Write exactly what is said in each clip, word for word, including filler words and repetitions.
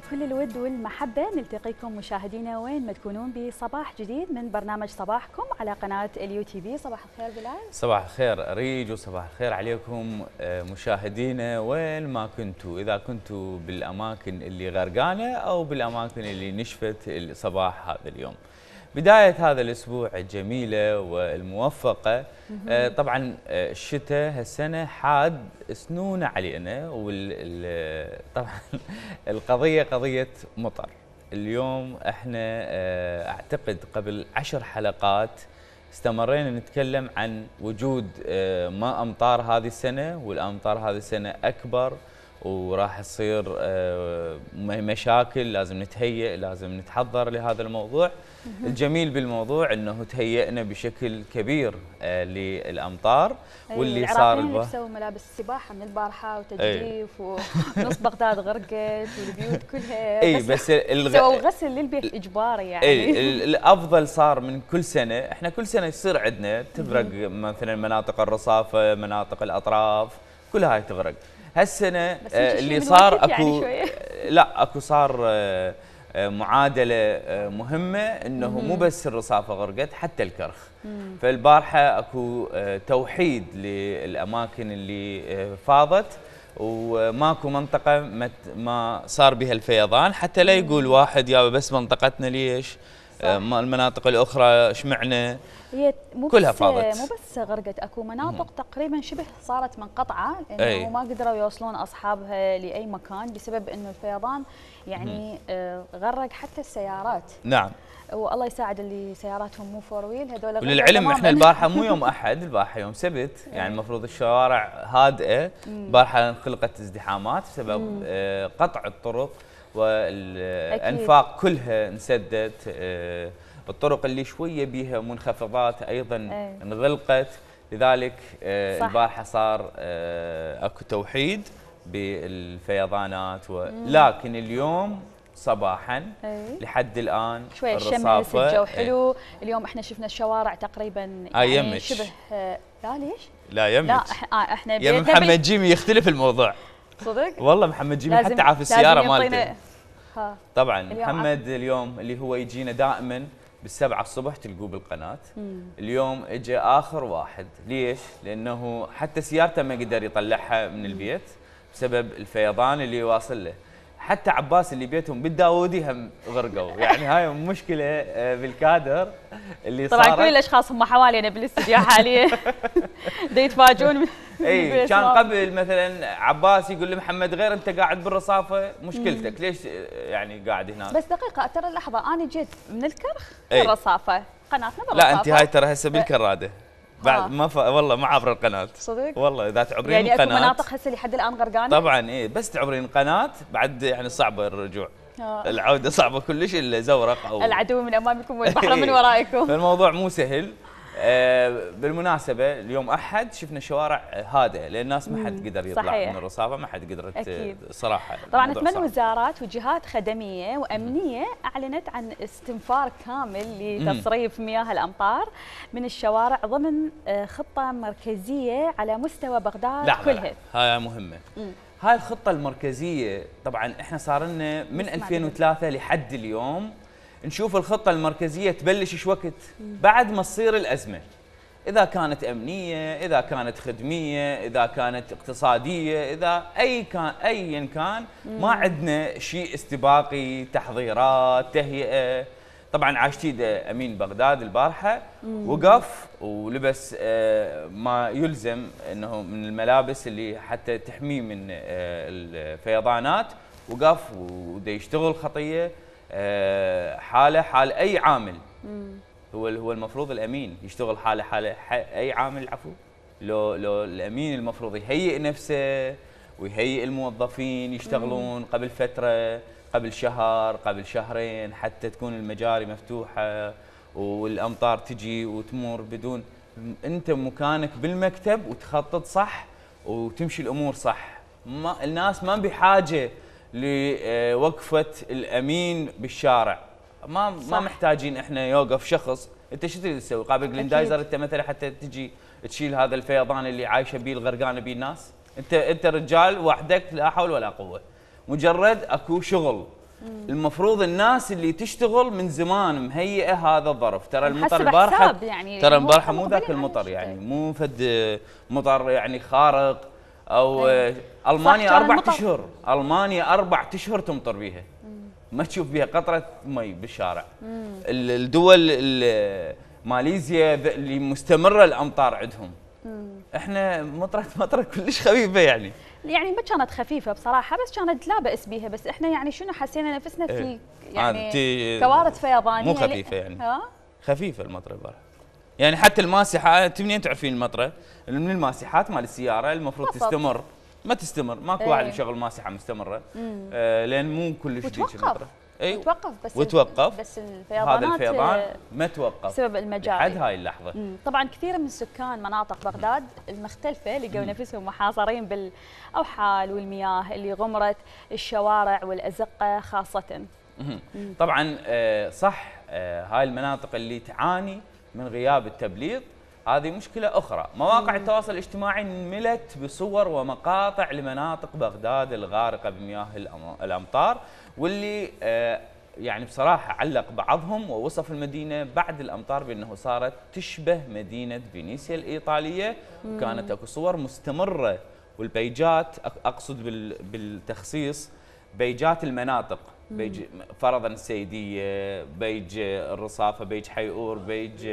بكل الود والمحبة نلتقيكم مشاهدينا وين ما تكونون بصباح جديد من برنامج صباحكم على قناة اليو تي في. صباح الخير بلال. صباح الخير أريج وصباح الخير عليكم مشاهدينا وين ما كنتوا، إذا كنتوا بالأماكن اللي غرقانة أو بالأماكن اللي نشفت صباح هذا اليوم. بداية هذا الأسبوع الجميلة والموفقة. طبعا الشتاء هالسنة حاد سنون علينا، وطبعا القضية قضية مطر. اليوم احنا اعتقد قبل عشر حلقات استمرينا نتكلم عن وجود ما امطار هذه السنة، والامطار هذه السنة اكبر وراح تصير مشاكل، لازم نتهيئ، لازم نتحضر لهذا الموضوع. الجميل بالموضوع انه تهيئنا بشكل كبير للامطار. واللي صار لبسوا ملابس السباحه من البارحه وتجديف ونص بغداد غرقت والبيوت كلها. اي بس الغ... سووا غسل للبيت اجباري يعني. اي الافضل صار من كل سنه، احنا كل سنه يصير عندنا تغرق مثلا مناطق الرصافه، مناطق الاطراف، كل هاي تغرق. هالسنه اللي صار اكو يعني لا اكو صار معادله مهمه، انه مو بس الرصافه غرقت حتى الكرخ. مم. فالبارحه اكو توحيد للاماكن اللي فاضت، وماكو منطقه ما صار بها الفيضان، حتى لا يقول واحد يا بس منطقتنا ليش، المناطق الاخرى اشمعنى. هي مو كلها بس فاضت، مو بس غرقت، اكو مناطق مم. تقريبا شبه صارت منقطعه، لانه ما قدروا يوصلون اصحابها لاي مكان بسبب انه الفيضان يعني آه غرق حتى السيارات. نعم. والله يساعد اللي سياراتهم مو فور ويل هذول. وللعلم احنا البارحه مو يوم احد، البارحه يوم سبت، يعني المفروض الشوارع هادئه. البارحه انخلقت ازدحامات بسبب آه قطع الطرق، والانفاق كلها انسدت. آه الطرق اللي شويه بيها منخفضات ايضا أي. انغلقت. لذلك آه البارحه صار آه اكو توحيد بالفيضانات، ولكن اليوم صباحا أي. لحد الان شويه الشمس، الجو حلو. اليوم احنا شفنا الشوارع تقريبا يعني يمج. شبه لا ليش؟ لا يمج. لا احنا يا محمد جيمي يختلف الموضوع. صدق؟ والله محمد جيمي حتى عارف السياره مالته. طبعا اليوم محمد اليوم اللي هو يجينا دائما بالسبعة الصبح تلقوه بالقناة. مم. اليوم اجى اخر واحد، ليش؟ لانه حتى سيارته ما قدر يطلعها من البيت بسبب الفيضان اللي واصل له. حتى عباس اللي بيتهم بالداودي هم غرقوا. يعني هاي مشكله بالكادر اللي طبعا صارت. كل الاشخاص هم حوالينا بالاستديو حاليا دا يتفاجئون. اي كان قبل مثلا عباس يقول لمحمد غير انت قاعد بالرصافه مشكلتك، ليش يعني قاعد هناك؟ بس دقيقه ترى لحظه، انا جيت من الكرخ للرصافه، قناتنا بالرصافه. لا انت هاي ترى هسه بالكراده بعد ما ف... والله ما عبر القناه. صدق؟ والله اذا تعبرين يعني القناه يعني اكو مناطق هسه لحد الان غرقانه؟ طبعا ايه، بس تعبرين القناه بعد يعني صعبه الرجوع. آه. العوده صعبه كلش، الا زورق او العدو من امامكم والبحر من ورائكم. فالموضوع مو سهل. آه بالمناسبه اليوم احد شفنا شوارع هادئه، لان الناس ما حد قدر يطلع صحيح. من الرصافه، ما حد قدرت أكيد. صراحه. طبعا ثمان وزارات وجهات خدميه وامنيه اعلنت عن استنفار كامل لتصريف مياه الامطار من الشوارع ضمن خطه مركزيه على مستوى بغداد لا كلها. لا لا. هاي مهمه. مم. هاي الخطه المركزيه طبعا احنا صار لنا من ألفين وثلاثة لحد اليوم نشوف الخطة المركزية تبلش ايش وقت؟ بعد ما تصير الأزمة. إذا كانت أمنية، إذا كانت خدمية، إذا كانت اقتصادية، إذا أي كان أيا كان، ما عندنا شيء استباقي، تحضيرات، تهيئة. طبعا عاشتيده أمين بغداد البارحة وقف ولبس ما يلزم أنه من الملابس اللي حتى تحميه من الفيضانات، وقف ودا يشتغل خطية. حاله حال اي عامل. مم. هو هو المفروض الامين يشتغل حاله حاله اي عامل. عفوا لو لو الامين المفروض يهيئ نفسه ويهيئ الموظفين يشتغلون. مم. قبل فتره، قبل شهر، قبل شهرين، حتى تكون المجاري مفتوحه والامطار تجي وتمر بدون انت مكانك بالمكتب وتخطط صح وتمشي الامور صح. ما الناس ما بحاجه لوقفه الامين بالشارع. ما صح. ما محتاجين احنا يوقف شخص. انت شو تريد تسوي؟ قابل جلندايزر انت مثلا حتى تجي تشيل هذا الفيضان اللي عايشه بيه الغرقانه بيه الناس؟ انت انت رجال وحدك لا حول ولا قوه. مجرد اكو شغل المفروض الناس اللي تشتغل من زمان مهيئه هذا الظرف. ترى المطر حسب البارحه حساب يعني ترى هو البارحه مو مقبلين ذاك على المطر الشتاء. يعني مو فد مطر يعني خارق او أي. المانيا صح، كان اربع المطر- اشهر المانيا اربع اشهر تمطر بيها، ما تشوف بيها قطره مي بالشارع. ال- الدول ال- ماليزيا ذ- اللي مستمره الامطار عندهم. احنا مطرت مطره كلش خفيفه يعني. يعني ما كانت خفيفه بصراحه، بس كانت لا باس بيها، بس احنا يعني شنو حسينا نفسنا في إيه. يعني تي- كوارث فيضانيه. مو خفيفه يعني. ها خفيفه المطره البارحه. يعني حتى الماسحه، انت منين تعرفين المطره؟ من الماسحات مال السياره المفروض بالضبط. تستمر، ما تستمر، ماكو ايه. واحد يشغل ماسحه مستمره. آه لان مو كلش ديك وتوقف المطره. اي وتوقف بس وتوقف. بس الفيضانات هذا الفيضان آه، ما توقف بسبب المجاري. لحد هاي اللحظه. مم. طبعا كثير من سكان مناطق بغداد المختلفه لقوا نفسهم محاصرين بالاوحال والمياه اللي غمرت الشوارع والازقه خاصه. مم. طبعا آه صح، آه هاي المناطق اللي تعاني من غياب التبليط هذه مشكلة أخرى. مواقع التواصل الاجتماعي ملت بصور ومقاطع لمناطق بغداد الغارقة بمياه الأم- الأمطار، واللي آه يعني بصراحة علق بعضهم ووصف المدينة بعد الأمطار بأنه صارت تشبه مدينة فينيسيا الإيطالية. وكانت أكو صور مستمرة، والبيجات أق- أقصد بال- بالتخصيص بيجات المناطق، بيج فرضا السيدية، بيج الرصافة، بيج حيئور، بيج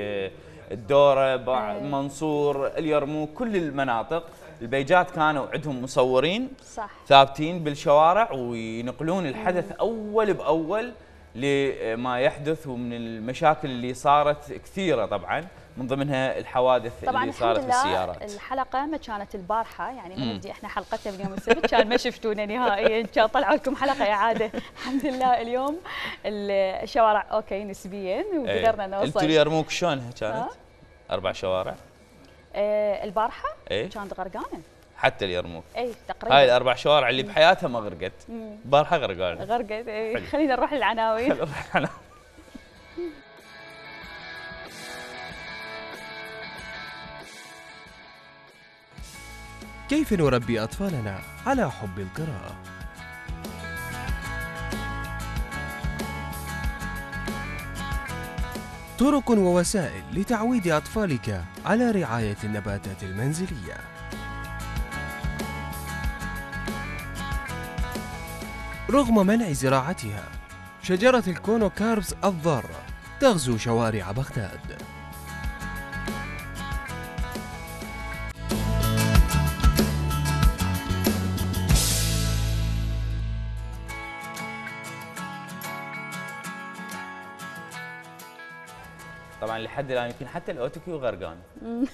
الدورة، بع- منصور، اليرموك، كل المناطق البيجات كانوا عندهم مصورين صح. ثابتين بالشوارع وينقلون الحدث أول بأول لما يحدث، ومن المشاكل اللي صارت كثيرة طبعا، من ضمنها الحوادث طبعا اللي صارت الحمد لله بالسيارات. الحلقه ما كانت البارحه، يعني ما نبدي احنا حلقتنا باليوم السبت كان ما شفتونا نهائيا، كان طلعوا لكم حلقه اعاده. الحمد لله اليوم الشوارع اوكي نسبيا وقدرنا نوصل. انتوا اليرموك شلونها كانت؟ ها؟ اربع شوارع؟ آه البارحه ايه كانت غرقانه. حتى اليرموك. اي تقريبا. هاي الاربع شوارع اللي بحياتها ما غرقت، البارحه غرقانه. غرقت. اي حلو. خلينا نروح للعناوين. كيف نربي أطفالنا على حب القراءة؟ طرق ووسائل لتعويد أطفالك على رعاية النباتات المنزلية. رغم منع زراعتها، شجرة الكونوكاربس الضارة تغزو شوارع بغداد. طبعا لحد الان يمكن حتى الاوتوكيو غرقان،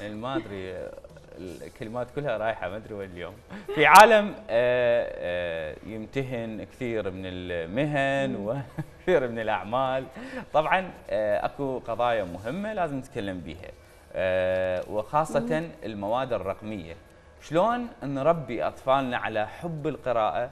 يعني ما ادري الكلمات كلها رايحه ما ادري وين اليوم. في عالم آه، آه، يمتهن كثير من المهن وكثير من الاعمال، طبعا آه، اكو قضايا مهمه لازم نتكلم بيها، آه، وخاصه المواد الرقميه. شلون نربي اطفالنا على حب القراءه؟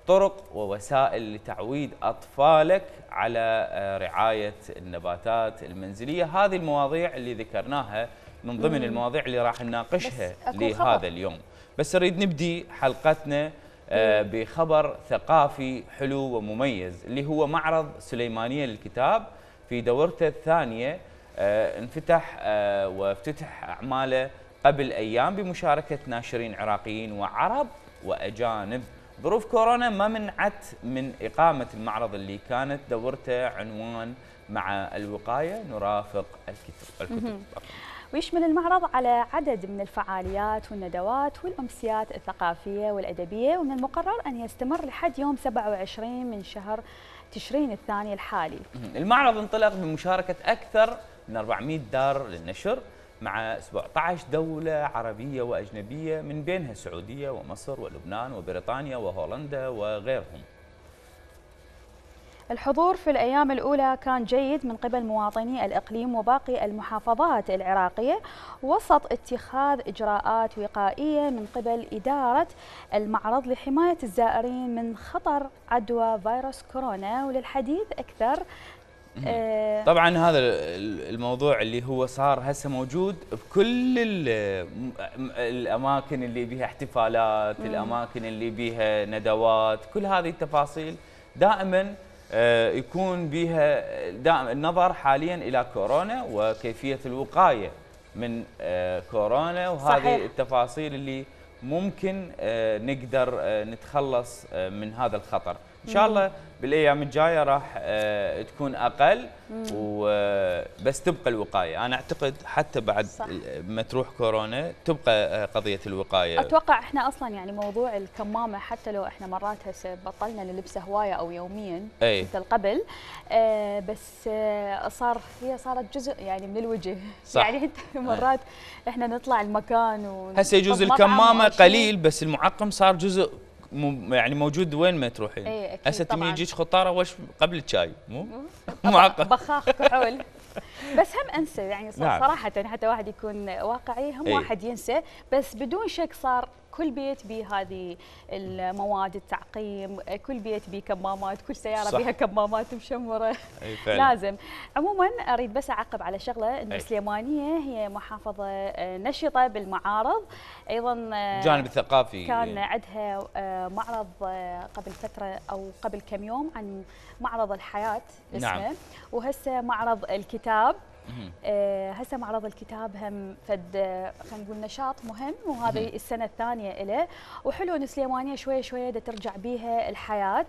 طرق ووسائل لتعويد أطفالك على رعاية النباتات المنزلية. هذه المواضيع اللي ذكرناها من ضمن مم. المواضيع اللي راح نناقشها لهذا اليوم. بس نريد نبدي حلقتنا آه بخبر ثقافي حلو ومميز، اللي هو معرض سليمانية للكتاب في دورته الثانية. آه انفتح آه وافتتح أعماله قبل أيام بمشاركة ناشرين عراقيين وعرب وأجانب. ظروف كورونا ما منعت من إقامة المعرض اللي كانت دورته عنوان مع الوقاية نرافق الكتب. الكتب. ويشمل المعرض على عدد من الفعاليات والندوات والأمسيات الثقافية والأدبية، ومن المقرر أن يستمر لحد يوم سبعة وعشرين من شهر تشرين الثاني الحالي. المعرض انطلق بمشاركة أكثر من أربعمئة دار للنشر مع سبعة عشر دولة عربية وأجنبية، من بينها السعودية ومصر ولبنان وبريطانيا وهولندا وغيرهم. الحضور في الأيام الأولى كان جيد من قبل مواطني الإقليم وباقي المحافظات العراقية، وسط اتخاذ إجراءات وقائية من قبل إدارة المعرض لحماية الزائرين من خطر عدوى فيروس كورونا. وللحديث أكثر طبعا هذا الموضوع اللي هو صار هسه موجود بكل الاماكن اللي بيها احتفالات، الاماكن اللي بيها ندوات، كل هذه التفاصيل دائما يكون بها دائما النظر حاليا الى كورونا وكيفيه الوقايه من كورونا، وهذه صحيح. التفاصيل اللي ممكن نقدر نتخلص من هذا الخطر. ان شاء الله بالايام الجايه راح تكون اقل، وبس تبقى الوقايه. انا اعتقد حتى بعد صح. ما تروح كورونا تبقى قضيه الوقايه. اتوقع احنا اصلا يعني موضوع الكمامه حتى لو احنا مرات هسه بطلنا نلبسها هوايه او يوميا مثل قبل، آه بس آه صار هي صارت جزء يعني من الوجه. صح. يعني انت مرات احنا نطلع المكان و هسه يجوز الكمامه قليل، بس المعقم صار جزء يعني موجود وين ما تروحين. اي اكيد. هسه تمي يجيك خطاره وش قبل الشاي مو معقم بخاخ كحول. بس هم انسى يعني صراحه حتى واحد يكون واقعي هم ايه. واحد ينسى، بس بدون شك صار كل بيت بهذه المواد التعقيم، كل بيت بيه كمامات، كل سياره صح. بيها كمامات مشمره. لازم. عموما اريد بس اعقب على شغله، ان السليمانيه هي محافظه نشطه بالمعارض، ايضا الجانب الثقافي كان عندها معرض قبل فتره او قبل كم يوم عن معرض الحياه اسمه. نعم. وهسه معرض الكتاب. آه هسه معرض الكتاب هم فد خلينا نقول نشاط مهم، وهذه السنه الثانيه له، وحلو ان سليمانيه شويه شويه دا ترجع بيها الحياه،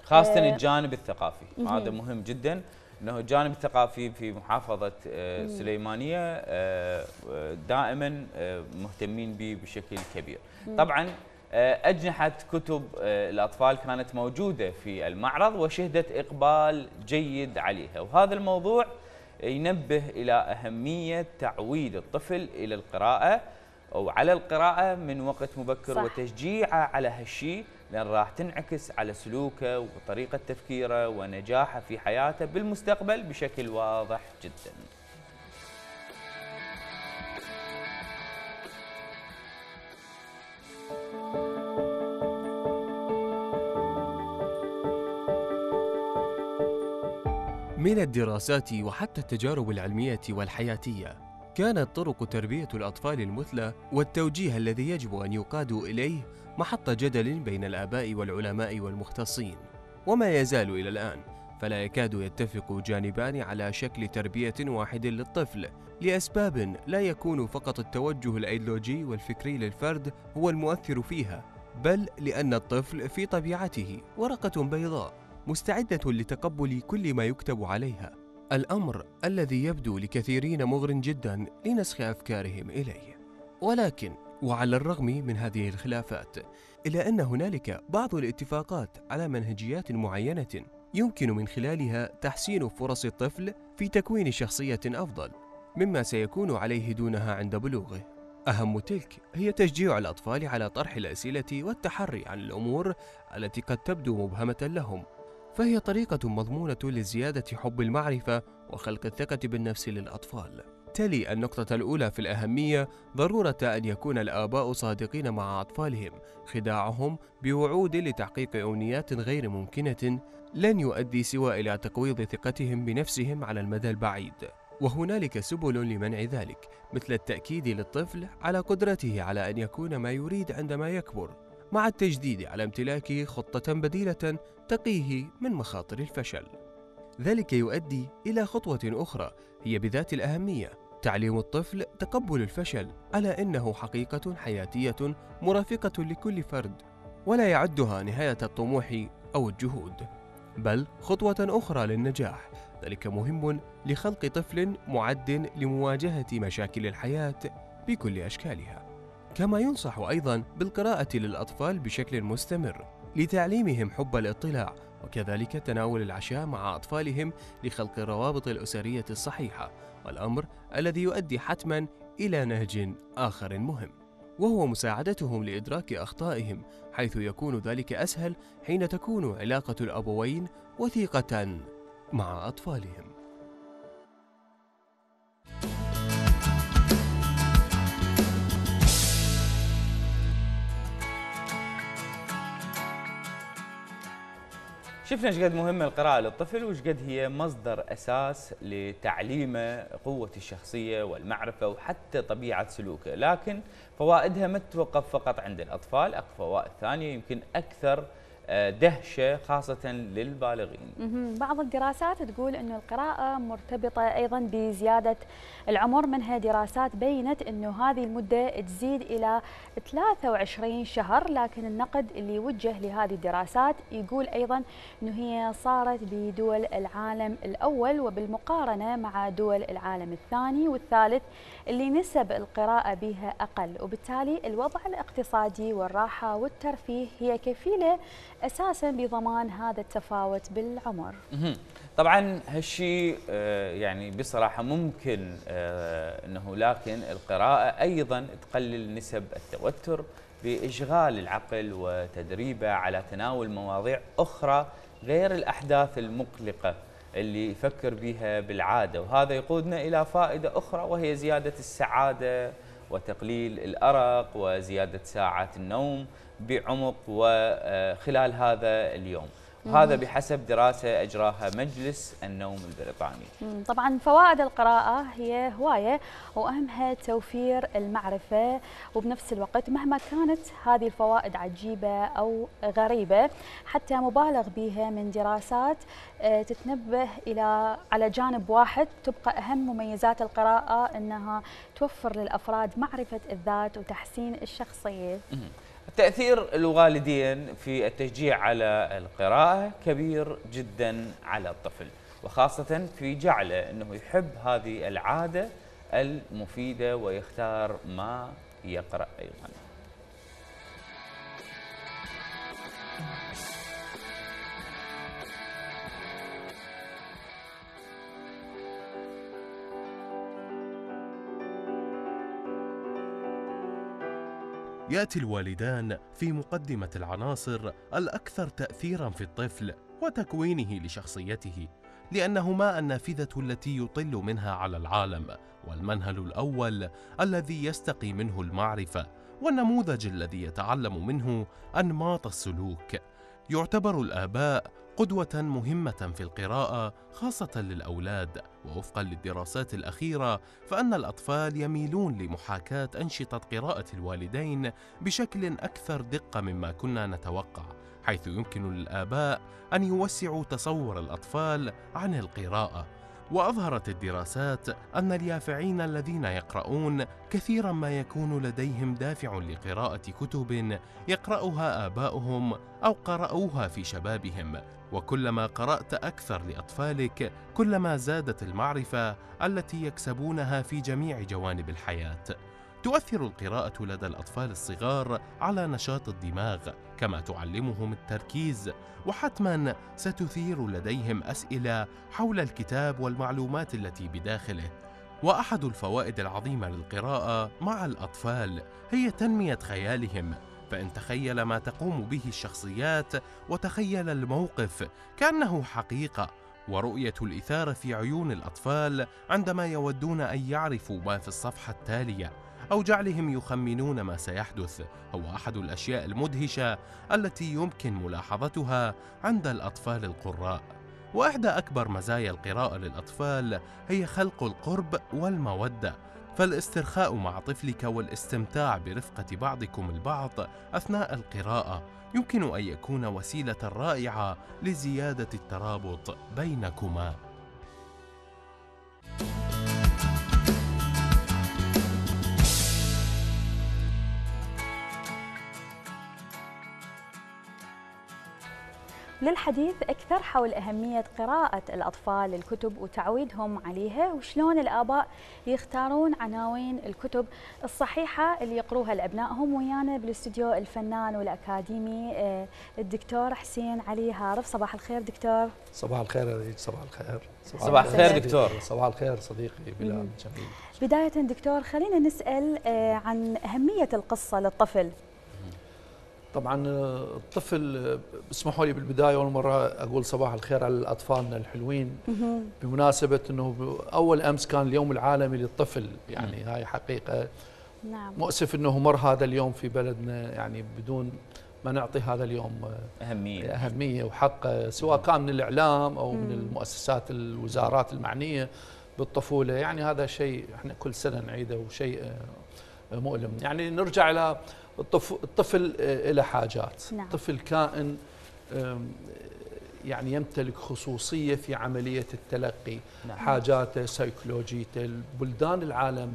خاصه آه الجانب الثقافي. هذا مهم جدا، انه الجانب الثقافي في محافظه آه سليمانيه آه دائما آه مهتمين به بشكل كبير. طبعا أجنحة كتب الأطفال كانت موجودة في المعرض وشهدت إقبال جيد عليها، وهذا الموضوع ينبه إلى أهمية تعويد الطفل إلى القراءة أو على القراءة من وقت مبكر. صح. وتشجيعه على هالشيء، لأن راح تنعكس على سلوكه وطريقة تفكيره ونجاحه في حياته بالمستقبل بشكل واضح جداً. من الدراسات وحتى التجارب العلمية والحياتية، كانت طرق تربية الأطفال المثلى والتوجيه الذي يجب أن يقادوا إليه محط جدل بين الآباء والعلماء والمختصين، وما يزال إلى الآن، فلا يكاد يتفق جانبان على شكل تربية واحد للطفل، لأسباب لا يكون فقط التوجه الأيديولوجي والفكري للفرد هو المؤثر فيها، بل لأن الطفل في طبيعته ورقة بيضاء مستعدة لتقبل كل ما يكتب عليها، الأمر الذي يبدو لكثيرين مغر جدا لنسخ أفكارهم إليه. ولكن وعلى الرغم من هذه الخلافات، إلا أن هنالك بعض الاتفاقات على منهجيات معينة يمكن من خلالها تحسين فرص الطفل في تكوين شخصية أفضل مما سيكون عليه دونها عند بلوغه. أهم تلك هي تشجيع الأطفال على طرح الأسئلة والتحري عن الأمور التي قد تبدو مبهمة لهم، فهي طريقة مضمونة لزيادة حب المعرفة وخلق الثقة بالنفس للأطفال. تلي النقطة الأولى في الأهمية ضرورة أن يكون الآباء صادقين مع أطفالهم. خداعهم بوعود لتحقيق أمنيات غير ممكنة لن يؤدي سوى إلى تقويض ثقتهم بنفسهم على المدى البعيد، وهنالك سبل لمنع ذلك، مثل التأكيد للطفل على قدرته على أن يكون ما يريد عندما يكبر، مع التجديد على امتلاك خطة بديلة تقيه من مخاطر الفشل. ذلك يؤدي إلى خطوة أخرى هي بذات الأهمية، تعليم الطفل تقبل الفشل على أنه حقيقة حياتية مرافقة لكل فرد، ولا يعدها نهاية الطموح أو الجهود، بل خطوة أخرى للنجاح. ذلك مهم لخلق طفل معد لمواجهة مشاكل الحياة بكل أشكالها. كما ينصح أيضا بالقراءة للأطفال بشكل مستمر لتعليمهم حب الاطلاع، وكذلك تناول العشاء مع أطفالهم لخلق الروابط الأسرية الصحيحة، والأمر الذي يؤدي حتما إلى نهج آخر مهم، وهو مساعدتهم لإدراك أخطائهم، حيث يكون ذلك أسهل حين تكون علاقة الأبوين وثيقة مع أطفالهم. شفنا ايش قد مهمه القراءه للطفل وايش قد هي مصدر اساس لتعليمه قوه الشخصيه والمعرفه وحتى طبيعه سلوكه، لكن فوائدها ما تتوقف فقط عند الاطفال، اكو فوائد ثانيه يمكن اكثر دهشة خاصة للبالغين. بعض الدراسات تقول أنه القراءة مرتبطة أيضا بزيادة العمر، منها دراسات بينت أنه هذه المدة تزيد إلى ثلاثة وعشرين شهر، لكن النقد اللي يوجه لهذه الدراسات يقول أيضا أنه هي صارت بدول العالم الأول وبالمقارنة مع دول العالم الثاني والثالث اللي نسب القراءة بها أقل، وبالتالي الوضع الاقتصادي والراحة والترفيه هي كفيلة أساساً بضمان هذا التفاوت بالعمر. طبعاً هالشيء يعني بصراحة ممكن أنه، لكن القراءة أيضاً تقلل نسب التوتر بإشغال العقل وتدريبه على تناول مواضيع أخرى غير الأحداث المقلقة اللي يفكر بها بالعادة، وهذا يقودنا إلى فائدة أخرى وهي زيادة السعادة وتقليل الأرق وزيادة ساعات النوم بعمق وخلال هذا اليوم، وهذا بحسب دراسة أجراها مجلس النوم البريطاني. طبعا فوائد القراءة هي هواية، وأهمها توفير المعرفة، وبنفس الوقت مهما كانت هذه الفوائد عجيبة أو غريبة حتى مبالغ بها من دراسات تتنبه إلى على جانب واحد، تبقى أهم مميزات القراءة أنها توفر للأفراد معرفة الذات وتحسين الشخصية. تأثير الوالدين في التشجيع على القراءة كبير جدا على الطفل، وخاصة في جعله أنه يحب هذه العادة المفيدة ويختار ما يقرأ أيضا. يأتي الوالدان في مقدمة العناصر الأكثر تأثيراً في الطفل وتكوينه لشخصيته، لأنهما النافذة التي يطل منها على العالم، والمنهل الأول الذي يستقي منه المعرفة، والنموذج الذي يتعلم منه أنماط السلوك. يعتبر الآباء قدوة مهمة في القراءة خاصة للأولاد، ووفقا للدراسات الأخيرة فإن الأطفال يميلون لمحاكاة أنشطة قراءة الوالدين بشكل أكثر دقة مما كنا نتوقع، حيث يمكن للآباء أن يوسعوا تصور الأطفال عن القراءة. وأظهرت الدراسات أن اليافعين الذين يقرؤون كثيرا ما يكون لديهم دافع لقراءة كتب يقرأها آباؤهم أو قرأوها في شبابهم، وكلما قرأت أكثر لأطفالك كلما زادت المعرفة التي يكسبونها في جميع جوانب الحياة. تؤثر القراءة لدى الأطفال الصغار على نشاط الدماغ، كما تعلمهم التركيز، وحتما ستثير لديهم أسئلة حول الكتاب والمعلومات التي بداخله. وأحد الفوائد العظيمة للقراءة مع الأطفال هي تنمية خيالهم، فإن تخيل ما تقوم به الشخصيات وتخيل الموقف كأنه حقيقة، ورؤية الإثارة في عيون الأطفال عندما يودون أن يعرفوا ما في الصفحة التالية أو جعلهم يخمنون ما سيحدث هو أحد الأشياء المدهشة التي يمكن ملاحظتها عند الأطفال القراء. وإحدى أكبر مزايا القراءة للأطفال هي خلق القرب والمودة، فالاسترخاء مع طفلك والاستمتاع برفقة بعضكم البعض أثناء القراءة يمكن أن يكون وسيلة رائعة لزيادة الترابط بينكما. للحديث أكثر حول أهمية قراءة الأطفال الكتب وتعويدهم عليها، وشلون الآباء يختارون عناوين الكتب الصحيحة اللي يقروها لأبنائهم، ويانا بالاستوديو الفنان والأكاديمي الدكتور حسين علي هارف. صباح الخير دكتور. صباح الخير يا ريت. صباح الخير. صباح الخير دكتور. صباح الخير صديقي بلال جميل. بداية دكتور خلينا نسأل عن أهمية القصة للطفل. طبعا الطفل، اسمحوا لي بالبدايه اول مره اقول صباح الخير على اطفالنا الحلوين بمناسبه انه اول امس كان اليوم العالمي للطفل، يعني هاي حقيقه. نعم. مؤسف انه مر هذا اليوم في بلدنا يعني بدون ما نعطي هذا اليوم اهميه اهميه وحقه، سواء كان من الاعلام او من المؤسسات الوزارات المعنيه بالطفوله. يعني هذا شيء احنا كل سنه نعيده وشيء مؤلم. يعني نرجع الى الطفل له حاجات. نعم. الطفل كائن يعني يمتلك خصوصية في عملية التلقي. نعم. حاجاته، سيكولوجيته. البلدان العالم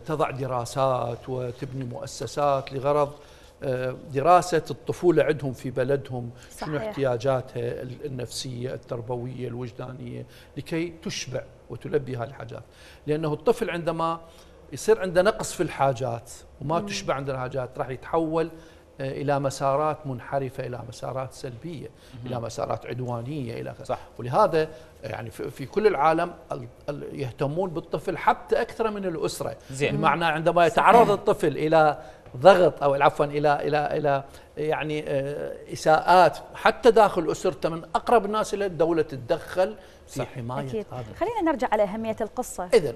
تضع دراسات وتبني مؤسسات لغرض دراسة الطفولة عندهم في بلدهم، شنو احتياجاتها النفسية التربوية الوجدانية لكي تشبع وتلبي هذه الحاجات. لأنه الطفل عندما يصير عنده نقص في الحاجات وما تشبع عنده الحاجات راح يتحول إلى مسارات منحرفة، إلى مسارات سلبية، إلى مسارات عدوانية إلى صح. ولهذا يعني في كل العالم يهتمون بالطفل حتى أكثر من الأسرة. زين. بمعنى عندما يتعرض الطفل إلى ضغط أو عفوا إلى إلى إلى يعني إساءات حتى داخل أسرته من أقرب الناس إلى الدولة تتدخل في حماية أكيد. هذا. خلينا نرجع على أهمية القصة. إذن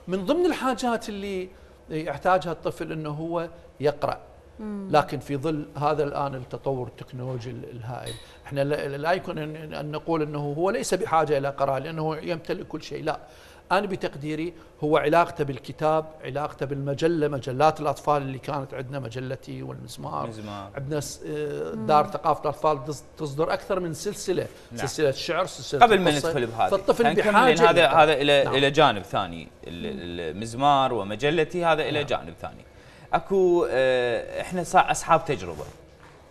من ضمن الحاجات اللي يحتاجها الطفل أنه هو يقرأ. لكن في ظل هذا الآن التطور التكنولوجي الهائل، احنا لا يمكن أن نقول أنه هو ليس بحاجة إلى قراءة لأنه يمتلك كل شيء، لا. أنا بتقديري هو علاقته بالكتاب، علاقته بالمجلة، مجلات الأطفال اللي كانت عندنا، مجلتي والمزمار، مزمار. عندنا دار ثقافة الأطفال تصدر أكثر من سلسلة. نعم. سلسلة شعر، سلسلة قبل ما ندخل بهذا، فالطفل بحاجة هذا هذا إلى نعم. إلى جانب ثاني، المزمار ومجلتي هذا إلى نعم. جانب ثاني. اكو اه احنا اصحاب تجربه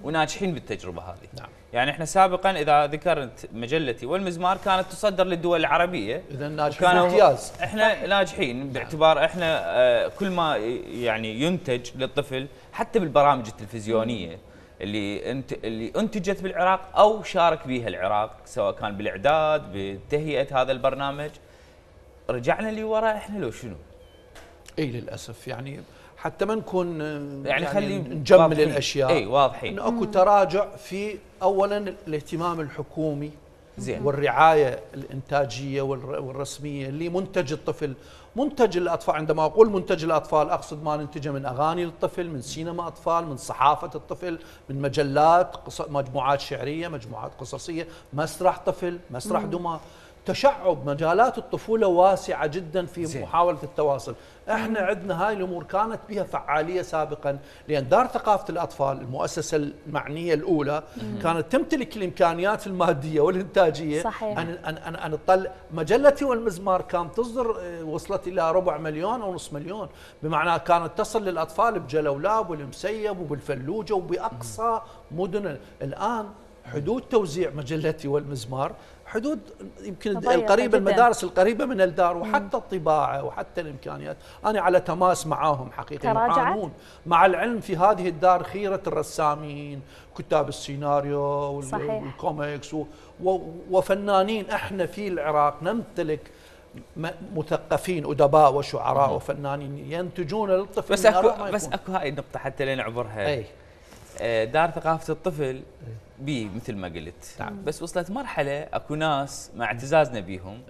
وناجحين بالتجربه هذه. نعم. يعني احنا سابقا اذا ذكرت مجلتي والمزمار كانت تصدر للدول العربيه، اذا ناجحين امتياز. احنا ناجحين نعم. باعتبار احنا اه كل ما يعني ينتج للطفل حتى بالبرامج التلفزيونيه اللي انت اللي انتجت بالعراق او شارك بها العراق، سواء كان بالاعداد بتهيئه هذا البرنامج، رجعنا لورا احنا لو شنو؟ اي للاسف يعني حتى ما نكون يعني, يعني خلي نجمل واضحين. الاشياء. اي واضحين. انه اكو تراجع في اولا الاهتمام الحكومي زين. والرعايه الانتاجيه والرسميه اللي منتج الطفل، منتج الاطفال. عندما اقول منتج الاطفال اقصد ما ننتجه من اغاني للطفل، من سينما اطفال، من صحافه الطفل، من مجلات، مجموعات شعريه، مجموعات قصصيه، مسرح طفل، مسرح دمى. تشعب مجالات الطفولة واسعة جدا في زي. محاولة التواصل. احنا عندنا هاي الامور كانت بها فعالية سابقا، لان دار ثقافة الاطفال المؤسسة المعنية الاولى مم. كانت تمتلك الامكانيات المادية والانتاجية. صحيح. ان ان ان, أن تطلع مجلتي والمزمار كانت تصدر وصلت الى ربع مليون او نصف مليون، بمعنى كانت تصل للاطفال بجلولاب والمسيب وبالفلوجة وباقصى مم. مدن. الان حدود توزيع مجلتي والمزمار حدود يمكن القريبه، المدارس القريبه من الدار، وحتى الطباعه وحتى الامكانيات. انا على تماس معاهم حقيقه يعانون، مع العلم في هذه الدار خيره الرسامين، كتاب السيناريو والكوميكس وفنانين. احنا في العراق نمتلك مثقفين ادباء وشعراء مم. وفنانين ينتجون للطفل. بس اكو بس اكو هاي النقطه حتى لنعبرها. اي دار ثقافه الطفل بي مثل ما قلت. نعم. بس وصلت مرحله اكو ناس مع اعتزازنا بيهم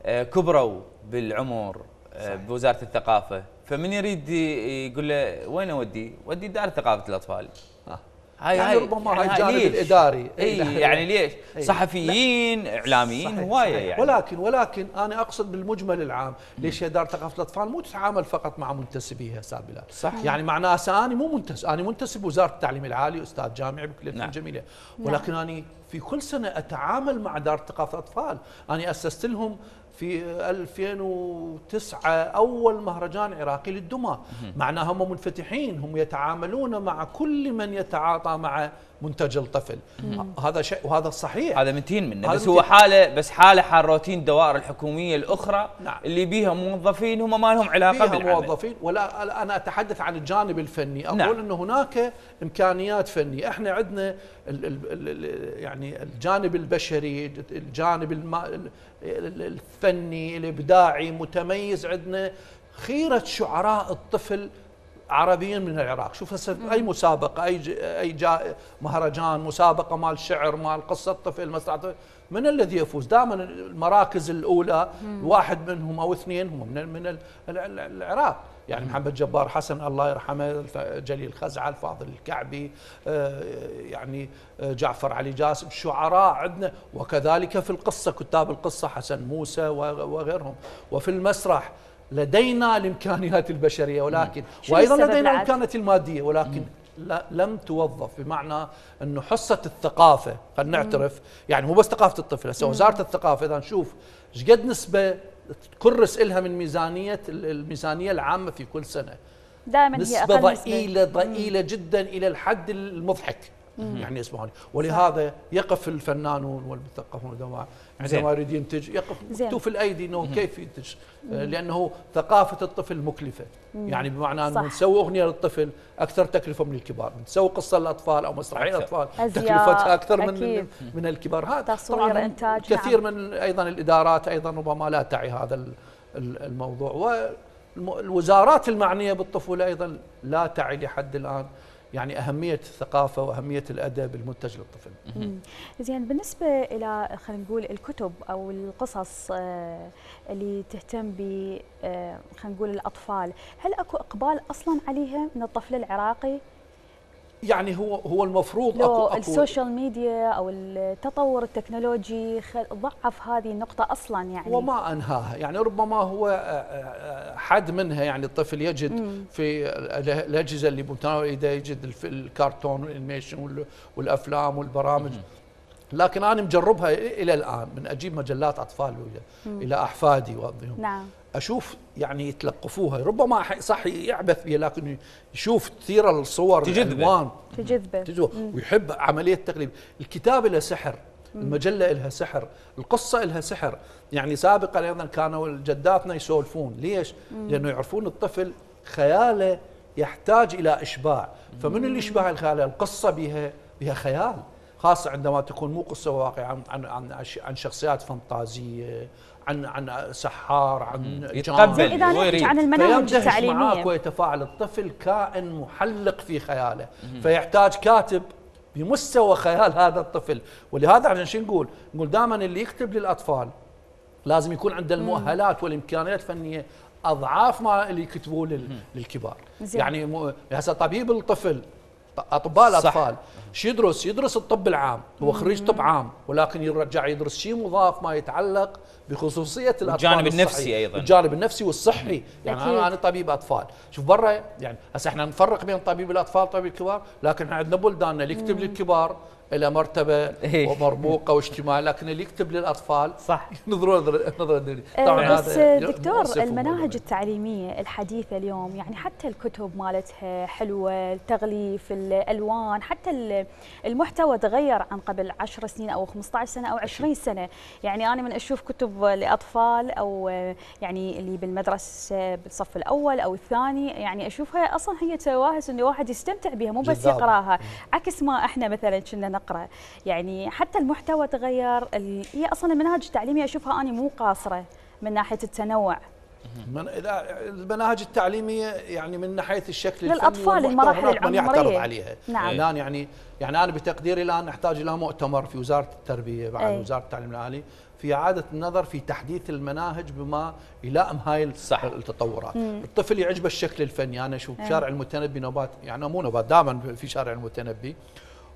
آه كبروا بالعمر آه بوزاره الثقافه، فمن يريد يقول له وين اودي؟ ودي دار ثقافه الاطفال. آه. هاي يعني ربما هاي الجانب الاداري. اي يعني ليش؟ أي. صحفيين، اعلاميين، هوايه يعني. ولكن ولكن انا اقصد بالمجمل العام، ليش هي دار ثقافه الاطفال مو تتعامل فقط مع منتسبيها سابلا؟ صح. يعني معناه هسه انا مو منتسب، انا منتسب وزاره التعليم العالي، استاذ جامعي بكليه الفنون الجميله، ولكن نعم. انا في كل سنه اتعامل مع دار ثقافه الاطفال. انا اسست لهم في ألفين وتسعة أول مهرجان عراقي للدمى، معناها هم منفتحين، هم يتعاملون مع كل من يتعاطى مع منتج الطفل. هذا شيء وهذا صحيح، هذا متين منه، بس هو حاله بس حاله حال روتين الدوائر الحكوميه الاخرى. نعم. اللي بيها موظفين هم ما لهم علاقه بالعمل، بيها موظفين. ولا انا اتحدث عن الجانب الفني، اقول نعم. انه هناك امكانيات فنيه. احنا عندنا ال ال ال يعني الجانب البشري، الجانب الم الفني الابداعي متميز. عندنا خيره شعراء الطفل عربيين من العراق. شوف هسه اي مسابقه، اي اي جا مهرجان، مسابقه مال شعر، مال قصه طفل، مسرح طفل، من الذي يفوز؟ دائما المراكز الاولى واحد منهم او اثنين هم من من العراق. يعني محمد جبار حسن الله يرحمه، جليل خزعل، فاضل الكعبي، يعني جعفر علي جاسم، شعراء عندنا. وكذلك في القصه، كتاب القصه حسن موسى وغيرهم. وفي المسرح لدينا الامكانيات البشريه، ولكن وايضا لدينا الامكانيات الماديه، ولكن لا لم توظف، بمعنى انه حصه الثقافه خلينا نعترف، يعني مو بس ثقافه الطفل، هسه وزاره الثقافه اذا نشوف ايش قد نسبه تكرس لها من ميزانيه الميزانيه العامه في كل سنه، دائما هي نسبة اقل ضئيلة ضئيلة جدا الى الحد المضحك. مم. يعني اسمعوا لي، ولهذا يقف الفنانون والمثقفون عندما عندما يريد ينتج يقف مكتوف الايدي انه مم. كيف ينتج، مم. لانه ثقافه الطفل مكلفه. مم. يعني بمعنى انه نسوي اغنيه للطفل اكثر تكلفه من الكبار، نسوي قصه للاطفال او مسرحيه للاطفال تكلفتها اكثر من من الكبار. هذا تصوير انتاج كثير نعم. من ايضا الادارات ايضا ربما لا تعي هذا الموضوع، والوزارات المعنيه بالطفوله ايضا لا تعي لحد الان يعني أهمية الثقافة وأهمية الأدب المنتج للطفل. زين، بالنسبة إلى خلينا نقول الكتب أو القصص اللي تهتم ب خلينا نقول الأطفال، هل أكو إقبال أصلاً عليها من الطفل العراقي؟ يعني هو هو المفروض لو أكو, أكو السوشيال ميديا أو التطور التكنولوجي ضعف هذه النقطة أصلاً يعني، وما أنهاها، يعني ربما هو حد منها. يعني الطفل يجد مم. في الأجهزة اللي بمتناول إيده يجد الكرتون والانيميشن والأفلام والبرامج، مم. لكن أنا مجربها إلى الآن، من أجيب مجلات أطفال إلى أحفادي وأضيهم، نعم. أشوف يعني يتلقفوها، ربما صح يعبث بها لكن يشوف كثير الصور الألوان تجذبه تجذبه ويحب عملية التقليد. الكتاب له سحر، المجلة لها سحر، القصة لها سحر. يعني سابقا أيضا كانوا جداتنا يسولفون، ليش؟ لأنه يعرفون الطفل خياله يحتاج إلى إشباع، فمن اللي يشبع الخيال؟ القصة بها بها خيال، خاصة عندما تكون مو قصة واقعية عن عن عن عن شخصيات فانتازية، عن عن سحار، عن يتقبل إذا نحكي عن المناهج التعليمية معاك ويتفاعل. الطفل كائن محلق في خياله، فيحتاج كاتب بمستوى خيال هذا الطفل. ولهذا عشان شو نقول؟ نقول دائما اللي يكتب للأطفال لازم يكون عنده المؤهلات والإمكانيات الفنية أضعاف ما اللي يكتبوه للكبار. زي. يعني هسه طبيب الطفل، اطباء الاطفال شو يدرس؟ يدرس الطب العام، هو خريج طب عام، ولكن يرجع يدرس شيء مضاف ما يتعلق بخصوصيه الاطفال، الجانب النفسي ايضا، الجانب النفسي والصحي. يعني انا انا طبيب اطفال، شوف برا يعني هسه احنا نفرق بين طبيب الاطفال وطبيب الكبار، لكن احنا عندنا بلداننا اللي يكتب للكبار الى مرتبه ومرموقه واجتماعيه، لكن اللي يكتب للاطفال صح نظره نظره طبعا. بس دكتور، المناهج التعليميه الحديثه اليوم يعني حتى الكتب مالتها حلوه، التغليف، الالوان، حتى المحتوى تغير عن قبل عشر سنين او خمسطعش سنه او عشرين سنه. يعني انا من اشوف كتب لاطفال او يعني اللي بالمدرسه بالصف الاول او الثاني، يعني اشوفها اصلا هي تواهس انه واحد يستمتع بها مو بس يقراها، عكس ما احنا مثلا كنا نقرا. يعني حتى المحتوى تغير، هي اصلا المناهج التعليميه اشوفها انا مو قاصره من ناحيه التنوع. من اذا المناهج التعليميه يعني من ناحيه الشكل للاطفال المراحل العمريه من يعترض عليها. نعم. الان يعني يعني انا بتقديري الان نحتاج الى مؤتمر في وزاره التربيه بعد أي. وزاره التعليم العالي في اعاده النظر في تحديث المناهج بما يلائم هاي صح. التطورات. مم. الطفل يعجبه الشكل الفني. انا اشوف شارع المتنبي نوبات، يعني مو نوبات دائما في شارع المتنبي،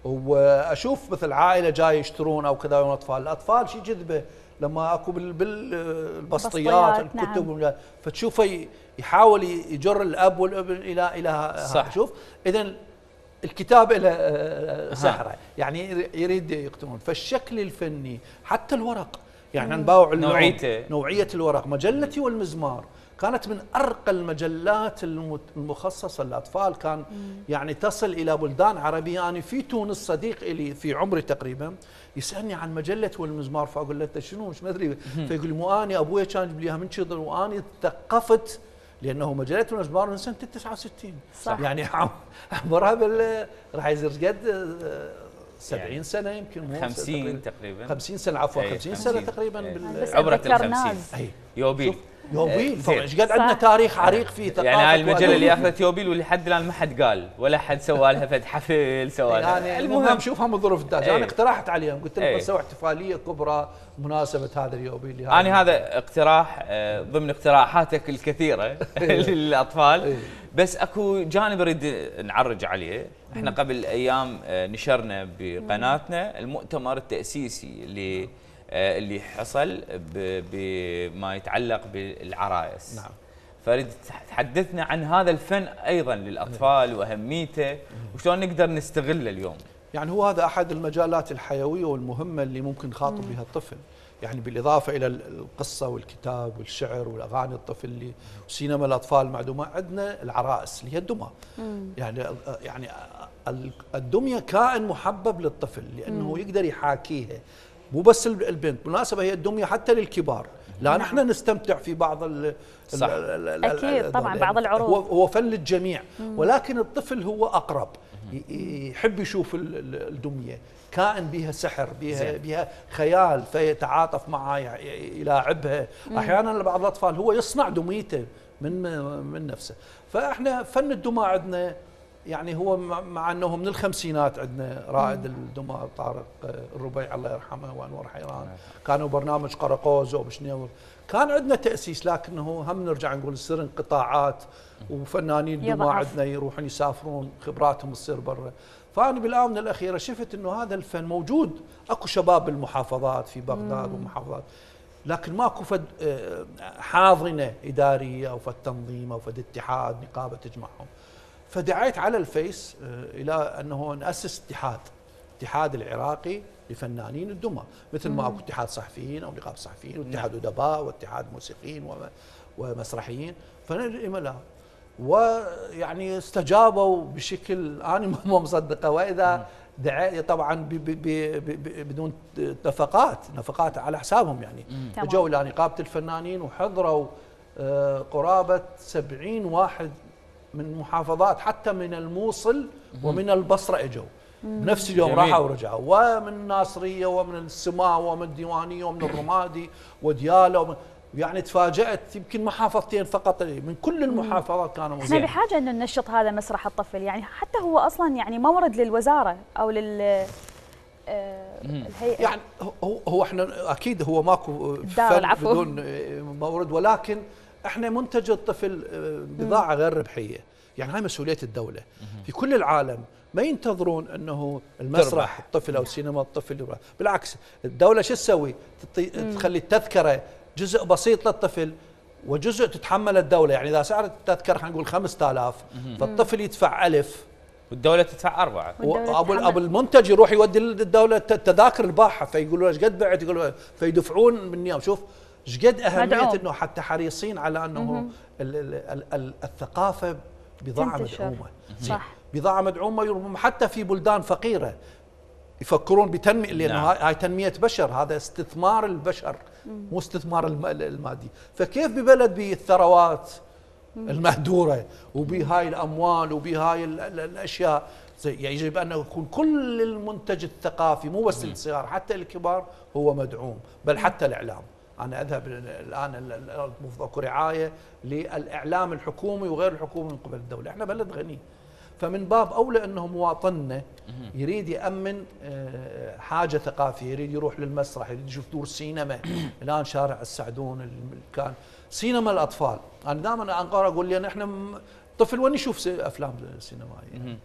واشوف مثل عائله جاي يشترون او كذا اطفال، الاطفال شيء جذبه لما اكو بالبسطيات الكتب. نعم. فتشوفه يحاول يجر الاب والابن الى الى صح. شوف اذا الكتاب له سحره، يعني يريد يقتنون. فالشكل الفني حتى الورق، يعني نباوع نوعيته نوعيه الورق. مجلتي والمزمار كانت من ارقى المجلات المخصصه للاطفال، كان مم. يعني تصل الى بلدان عربيه. انا في تونس صديق لي في عمري تقريبا يسالني عن مجله والمزمار، فاقول له انت شنو مش مدري، فيقول لي مو اني ابوي كان يجيب لي اياها من كذا، واني ثقفت لانه مجله والمزمار من سنه تسعة وستين. صح. يعني عمرها بال راح يصير قد سبعين يعني سنه يمكن، مو خمسين تقريبا، خمسين سنه عفوا خمسين سنه تقريبا عبره الخمسين. يوبيل يوبيل ايش قد عندنا تاريخ عريق في ثقافه. يعني هاي المجله اللي اخذت يوبيل ولحد الان ما حد قال ولا حد سوى لها فد حفل سوى لها. يعني المهم شوفها من ظروف الداج. انا اقترحت عليهم قلت لهم نسوي احتفاليه كبرى بمناسبه هذا اليوبيل. انا هذا اقتراح ضمن اقتراحاتك الكثيره للاطفال، بس اكو جانب اريد نعرج عليه. احنا قبل ايام نشرنا بقناتنا المؤتمر التاسيسي اللي اللي حصل بما يتعلق بالعرايس. نعم. فاريد تحدثنا عن هذا الفن ايضا للاطفال واهميته وشلون نقدر نستغله اليوم. يعني هو هذا احد المجالات الحيويه والمهمه اللي ممكن نخاطب بها الطفل، يعني بالاضافه الى القصه والكتاب والشعر والاغاني الطفل اللي وسينما الاطفال معدومه، عندنا العرائس اللي هي الدمى. يعني يعني الدميه كائن محبب للطفل لانه مم. يقدر يحاكيها، مو بس البنت، بالمناسبه هي الدميه حتى للكبار، لا نحن نستمتع في بعض ال صح. ال اكيد طبعا بعض العروض هو هو فن للجميع، ولكن الطفل هو اقرب، يحب يشوف الدميه، كائن بها سحر، بها بها خيال، فيتعاطف معها، يلاعبها. احيانا بعض الاطفال هو يصنع دميته من من نفسه. فاحنا فن الدمى عندنا يعني هو مع انه من الخمسينات عندنا رائد الدمى طارق الربيع الله يرحمه وانور حيران، كانوا برنامج قرقوز وبشنيور، كان عندنا تاسيس، لكنه هم نرجع نقول يصير انقطاعات وفنانين الدمى عندنا يروحون يسافرون خبراتهم تصير برا. فأنا بالآونة الأخيرة شفت أنه هذا الفن موجود، أكو شباب بالمحافظات في بغداد والمحافظات، لكن ماكو فد حاضنة إدارية أو فد تنظيم أو فد اتحاد نقابة تجمعهم. فدعيت على الفيس إلى أنه نأسس اتحاد، اتحاد العراقي لفنانين الدمى، مثل ما أكو اتحاد صحفيين أو نقابة صحفيين واتحاد أدباء واتحاد موسيقيين ومسرحيين. فنلقي ويعني استجابوا بشكل انا ما مصدقه، واذا دعاء طبعا بي بي بي بدون نفقات نفقات على حسابهم، يعني اجوا الى نقابه الفنانين وحضروا قرابه سبعين واحد من محافظات، حتى من الموصل ومن البصره اجوا بنفس اليوم، راحوا ورجعوا، ومن الناصريه ومن السماء ومن الديوانيه ومن الرمادي ودياله ومن، يعني تفاجأت يمكن محافظتين فقط من كل المحافظات كانوا موجودين. احنا بحاجه ان ننشط هذا مسرح الطفل، يعني حتى هو اصلا يعني مورد للوزاره او لل الهيئه، يعني هو هو احنا اكيد هو ماكو فن بدون مورد، ولكن احنا منتج الطفل بضاعه غير ربحيه، يعني هاي مسؤوليه الدوله. في كل العالم ما ينتظرون انه المسرح الطفل او سينما الطفل، بالعكس الدوله شو تسوي؟ تخلي التذكره جزء بسيط للطفل وجزء تتحمل الدولة، يعني إذا سعر التذكرة خلينا نقول خمسة آلاف فالطفل يدفع ألف والدولة تدفع أربعة، وأبو أبو المنتج يروح يودي للدولة التذاكر الباحة، فيقولوا ايش قد بعت، يقولوا فيدفعون من يوم. شوف ايش قد أهمية إنه حتى حريصين على أنه ال ال ال الثقافة بضاعة مدعومة، صح، بضاعة مدعومة حتى في بلدان فقيرة يفكرون بتنمية، لأنه نعم. هاي تنمية بشر، هذا استثمار البشر مو استثمار المادي. فكيف ببلد بالثروات المهدورة وبهاي الأموال وبهاي الأشياء يجب أن يكون كل المنتج الثقافي مو بس الصغار حتى الكبار هو مدعوم، بل حتى الإعلام. أنا أذهب الآن أكو رعاية للإعلام الحكومي وغير الحكومي من قبل الدولة، إحنا بلد غني، فمن باب أولى أنه مواطننا يريد يأمن حاجة ثقافية، يريد يروح للمسرح، يريد يشوف دور سينما. الآن شارع السعدون كان سينما الأطفال، أنا دائما أنقر أقول لي نحن طفل وين يشوف أفلام سينمائية؟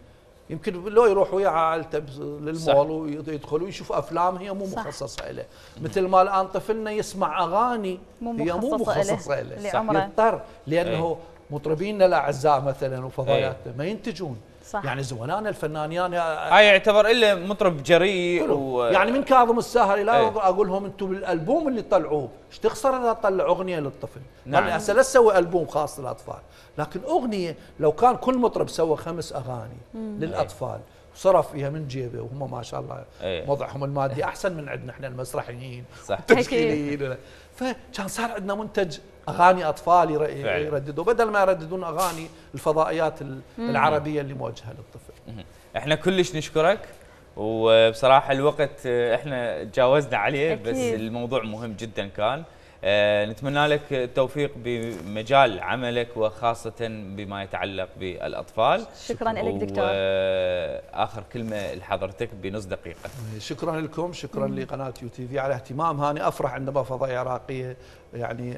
يمكن لو يروح ويا عائلته للمول ويدخلوا يشوفوا أفلام هي مو مخصصة له، مثل ما الآن طفلنا يسمع أغاني هي مو مخصصة له، يضطر لأنه مطربينا الاعزاء مثلا وفضائياتنا ما ينتجون، صح. يعني زملائنا الفنانين هاي يعتبر الا مطرب جريء و... يعني من كاظم الساهر الى اقول لهم انتم بالالبوم اللي طلعوه ايش تخسر اذا طلع اغنيه للطفل؟ نعم. يعني هسه لا تسوي البوم خاص للاطفال، لكن اغنيه لو كان كل مطرب سوى خمس اغاني مم. للاطفال وصرف فيها من جيبه وهم ما شاء الله أيه. وضعهم المادي احسن من عندنا احنا المسرحيين والتشكيليين، فكان صار عندنا منتج اغاني اطفال يرددوا بدل ما يرددون اغاني الفضائيات العربيه اللي موجهه للطفل. احنا كلش نشكرك، وبصراحه الوقت احنا تجاوزنا عليه أكيد. بس الموضوع مهم جدا كان. آه نتمنى لك التوفيق بمجال عملك وخاصة بما يتعلق بالأطفال. شكرا لك دكتور. وآخر كلمة لحضرتك بنص دقيقة. شكرا لكم، شكرا لقناة يو تي في على اهتمامها. أنا أفرح عندما فضائية عراقية يعني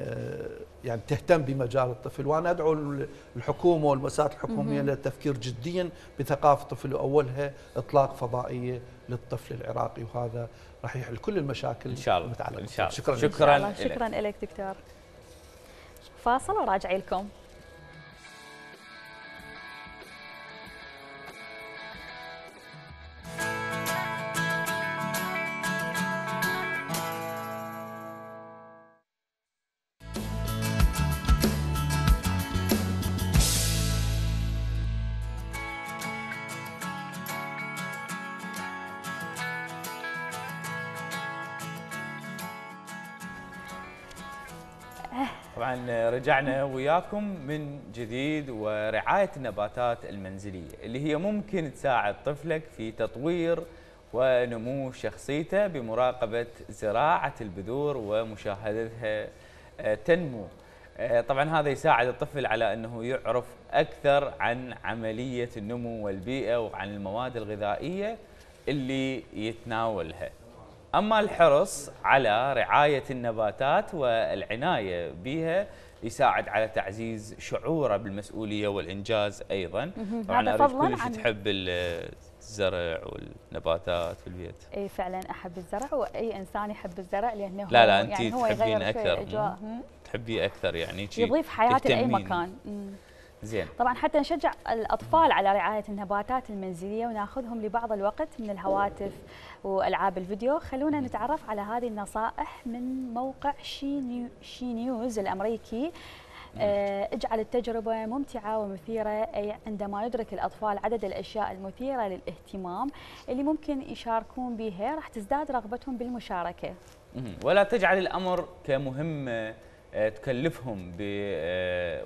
يعني تهتم بمجال الطفل، وأنا أدعو الحكومة والمؤسسات الحكومية للتفكير جديا بثقافة الطفل، وأولها إطلاق فضائية للطفل العراقي، وهذا راح يحل كل المشاكل ان شاء الله المتعلقه. ان شاء الله. شكرا شكرا شكرا لك دكتور. فاصل وراجع لكم. طبعا رجعنا وياكم من جديد، ورعاية النباتات المنزلية اللي هي ممكن تساعد طفلك في تطوير ونمو شخصيته بمراقبة زراعة البذور ومشاهدتها تنمو. طبعا هذا يساعد الطفل على أنه يعرف أكثر عن عملية النمو والبيئة وعن المواد الغذائية اللي يتناولها. أما الحرص على رعاية النباتات والعناية بها يساعد على تعزيز شعوره بالمسؤولية والإنجاز أيضاً. طبعاً أعرف كلش تحب الزرع والنباتات في البيت. اي فعلاً أحب الزرع، وأي إنسان يحب الزرع لأنه لا لا أنت يعني هو تحبين يغير أكثر، تحبيه أكثر يعني يضيف حياة لأي مكان. زين. طبعا حتى نشجع الأطفال على رعاية النباتات المنزلية وناخذهم لبعض الوقت من الهواتف والألعاب الفيديو، خلونا نتعرف على هذه النصائح من موقع شي, نيو شي نيوز الأمريكي. آه اجعل التجربة ممتعة ومثيرة، أي عندما يدرك الأطفال عدد الأشياء المثيرة للاهتمام اللي ممكن يشاركون بها راح تزداد رغبتهم بالمشاركة. ولا تجعل الأمر كمهمة تكلفهم ب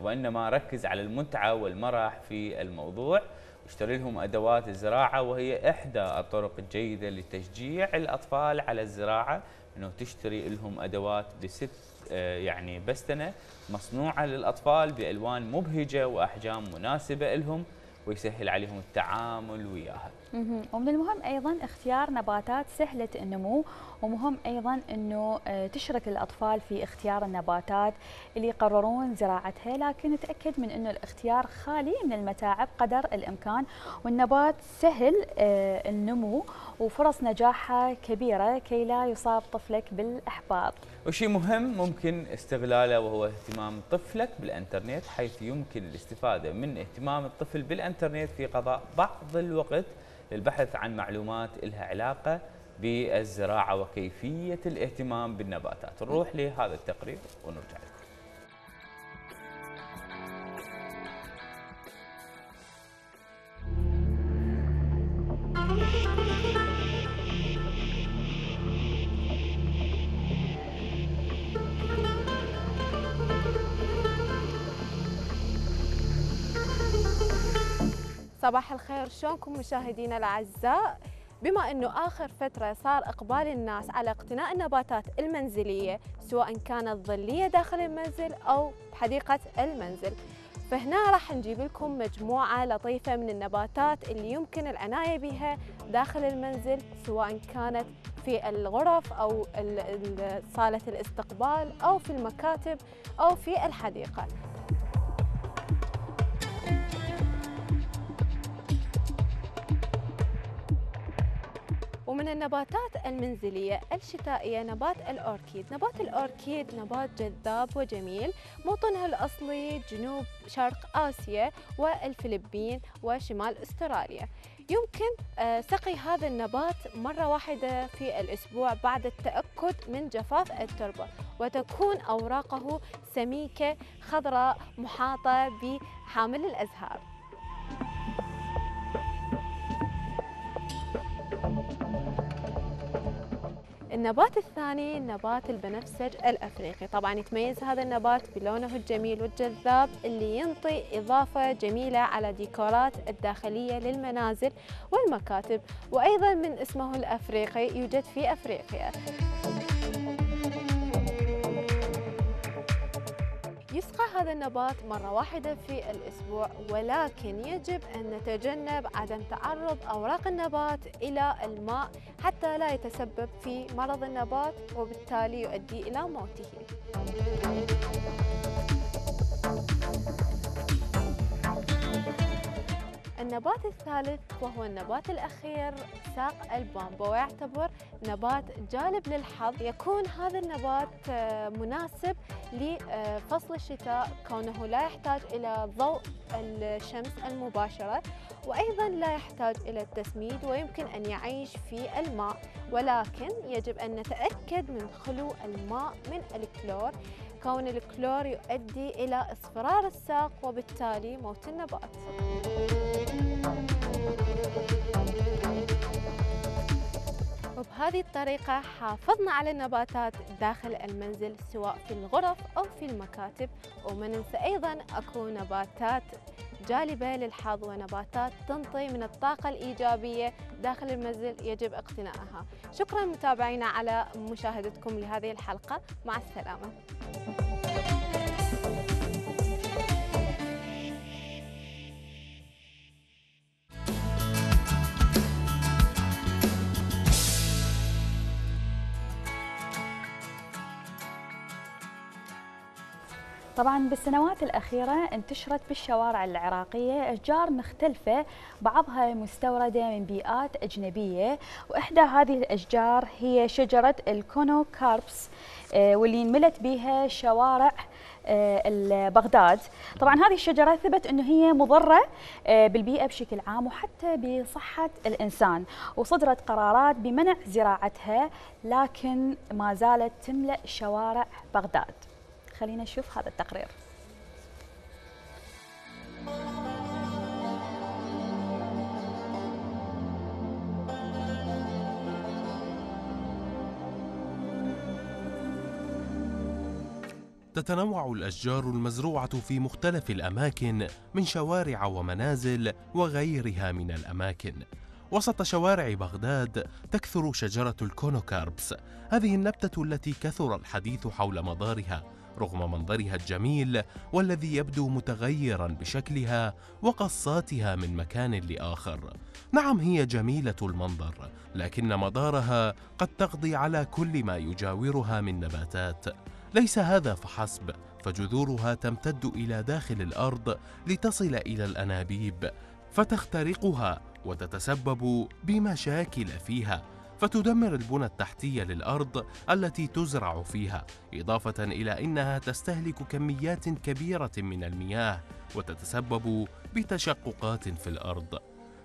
وإنما ركز على المتعة والمرح في الموضوع، واشتري لهم أدوات الزراعة، وهي إحدى الطرق الجيدة لتشجيع الأطفال على الزراعة، إنه تشتري لهم أدوات بست يعني بستنة مصنوعة للأطفال بألوان مبهجة وأحجام مناسبة لهم، ويسهل عليهم التعامل وياها. ومن المهم أيضا اختيار نباتات سهلة النمو، ومهم أيضا أنه تشرك الأطفال في اختيار النباتات اللي يقررون زراعتها، لكن تأكد من أنه الاختيار خالي من المتاعب قدر الإمكان، والنبات سهل النمو وفرص نجاحها كبيرة كي لا يصاب طفلك بالإحباط. وشيء مهم ممكن استغلاله وهو اهتمام طفلك بالإنترنت، حيث يمكن الاستفادة من اهتمام الطفل بالإنترنت في قضاء بعض الوقت للبحث عن معلومات لها علاقة بالزراعة وكيفية الاهتمام بالنباتات. نروح لهذا التقرير ونرجع لكم. صباح الخير، شلونكم مشاهدينا الاعزاء؟ بما انه اخر فتره صار اقبال الناس على اقتناء النباتات المنزليه، سواء كانت ظليه داخل المنزل او بحديقه المنزل، فهنا راح نجيب لكم مجموعه لطيفه من النباتات اللي يمكن العنايه بها داخل المنزل، سواء كانت في الغرف او صاله الاستقبال او في المكاتب او في الحديقه. ومن النباتات المنزلية الشتائية نبات الأوركيد. نبات الأوركيد نبات جذاب وجميل، موطنها الأصلي جنوب شرق آسيا والفلبين وشمال أستراليا. يمكن سقي هذا النبات مرة واحدة في الأسبوع بعد التأكد من جفاف التربة، وتكون أوراقه سميكة خضراء محاطة بحامل الأزهار. النبات الثاني نبات البنفسج الأفريقي. طبعا يتميز هذا النبات بلونه الجميل والجذاب اللي ينطي إضافة جميلة على ديكورات الداخلية للمنازل والمكاتب، وأيضا من اسمه الأفريقي يوجد في أفريقيا. يسقى هذا النبات مرة واحدة في الأسبوع، ولكن يجب أن نتجنب عدم تعرض أوراق النبات إلى الماء حتى لا يتسبب في مرض النبات وبالتالي يؤدي إلى موته. النبات الثالث وهو النبات الأخير ساق البامبو، ويعتبر نبات جالب للحظ. يكون هذا النبات مناسب لفصل الشتاء كونه لا يحتاج إلى ضوء الشمس المباشرة، وأيضا لا يحتاج إلى التسميد، ويمكن أن يعيش في الماء، ولكن يجب أن نتأكد من خلو الماء من الكلور، كون الكلور يؤدي إلى اصفرار الساق وبالتالي موت النبات. وبهذه الطريقة حافظنا على النباتات داخل المنزل سواء في الغرف أو في المكاتب. وما ننسى أيضا أكو نباتات جالبة للحظ ونباتات تنطي من الطاقة الإيجابية داخل المنزل يجب اقتنائها. شكرا متابعينا على مشاهدتكم لهذه الحلقة، مع السلامة. طبعا بالسنوات الأخيرة انتشرت بالشوارع العراقية أشجار مختلفة، بعضها مستوردة من بيئات أجنبية، وإحدى هذه الأشجار هي شجرة الكونوكاربس واللي انملت بها شوارع بغداد. طبعا هذه الشجرة ثبت أنه هي مضرة بالبيئة بشكل عام وحتى بصحة الإنسان، وصدرت قرارات بمنع زراعتها، لكن ما زالت تملأ شوارع بغداد. خلينا نشوف هذا التقرير. تتنوع الأشجار المزروعة في مختلف الأماكن من شوارع ومنازل وغيرها من الأماكن. وسط شوارع بغداد تكثر شجرة الكونوكاربس، هذه النبتة التي كثر الحديث حول مضارها رغم منظرها الجميل والذي يبدو متغيرا بشكلها وقصاتها من مكان لآخر. نعم هي جميلة المنظر، لكن مضارها قد تقضي على كل ما يجاورها من نباتات. ليس هذا فحسب، فجذورها تمتد إلى داخل الأرض لتصل إلى الأنابيب فتخترقها وتتسبب بمشاكل فيها، فتدمر البنى التحتية للأرض التي تزرع فيها، إضافة إلى أنها تستهلك كميات كبيرة من المياه وتتسبب بتشققات في الأرض.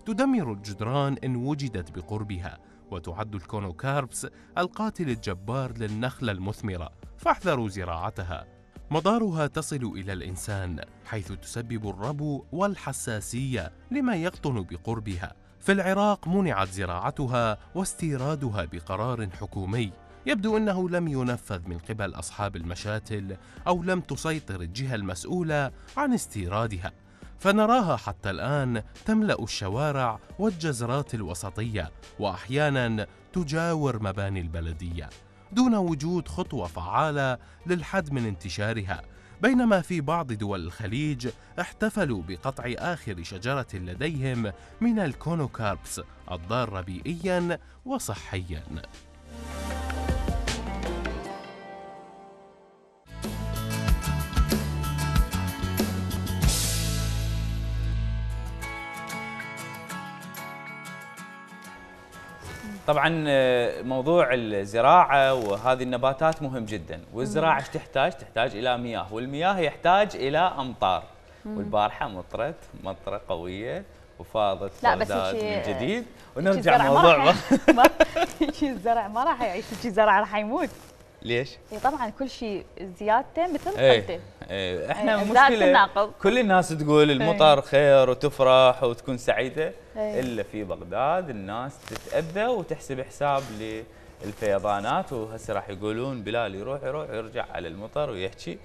تدمر الجدران إن وجدت بقربها، وتعد الكونوكاربس القاتل الجبار للنخلة المثمرة، فاحذروا زراعتها. مضارها تصل إلى الإنسان حيث تسبب الربو والحساسية لما يقطن بقربها. في العراق منعت زراعتها واستيرادها بقرار حكومي، يبدو أنه لم ينفذ من قبل أصحاب المشاتل أو لم تسيطر الجهة المسؤولة عن استيرادها، فنراها حتى الآن تملأ الشوارع والجزرات الوسطية، وأحيانا تجاور مباني البلدية دون وجود خطوة فعالة للحد من انتشارها. بينما في بعض دول الخليج احتفلوا بقطع آخر شجرة لديهم من الكونوكاربس الضارة بيئياً وصحياً. طبعا موضوع الزراعة وهذه النباتات مهم جدا، والزراعة ايش تحتاج؟ تحتاج إلى مياه، والمياه يحتاج إلى أمطار. والبارحة مطرت مطرة قوية وفاضت بغداد من جديد، ونرجع موضوع شيء الزرع ما راح يعيش، شيء الزرع راح يموت. ليش؟ اي طبعا كل شيء زيادته مثل ايه قلته. ايه احنا مشكلة كل الناس تقول المطر ايه خير وتفرح وتكون سعيدة، ايه الا في بغداد الناس تتأذى وتحسب حساب للفيضانات. وهسه راح يقولون بلال يروح يروح يرجع على المطر ويحكي.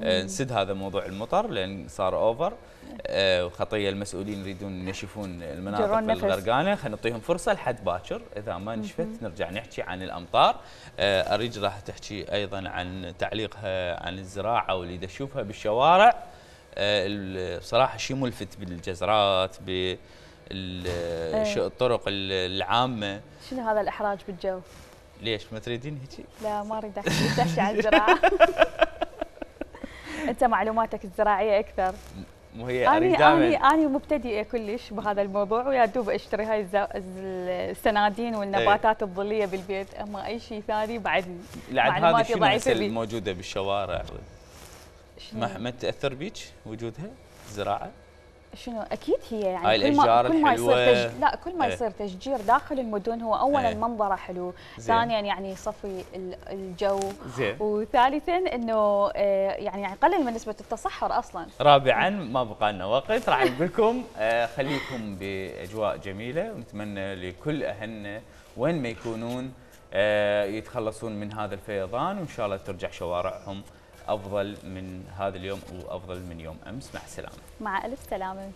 آه نسد هذا موضوع المطر لان صار اوفر، آه وخطيه المسؤولين يريدون ينشفون المناطق بالغرقانه، خلينا نعطيهم فرصه لحد باكر، اذا ما نشفت نرجع نحكي عن الامطار. آه اريج راح تحكي ايضا عن تعليقها عن الزراعه واللي تشوفها بالشوارع. آه بصراحه شيء ملفت بالجزرات بالطرق العامه. شنو هذا الاحراج بالجو؟ ليش ما تريدين هيك؟ لا ما اريد احكي عن الزراعه. انت معلوماتك الزراعيه اكثر. مو هي اريد دائما اني اني مبتدئه كلش بهذا الموضوع، ويا دوب اشتري هاي السنادين والنباتات ايه الظليه بالبيت، اما اي شيء ثاني بعد معلوماتي ضعيفه. الموجوده بالشوارع ما ما تاثر بيك وجودها الزراعه؟ شنو اكيد هي يعني هاي كل ما الاشجار كل ما يصير الحلوة. تج... لا كل ما إيه. يصير تشجير داخل المدن هو اولا إيه. منظره حلو، زين. ثانيا يعني يصفي ال- الجو، زين. وثالثا انه آه، يعني يقلل من نسبه التصحر اصلا. رابعا ما بقى لنا وقت، راح نقول لكم آه، خليكم باجواء جميله، ونتمنى لكل اهلنا وين ما يكونون آه، يتخلصون من هذا الفيضان، وان شاء الله ترجع شوارعهم افضل من هذا اليوم وافضل من يوم امس. مع السلامه. مع الف سلامه.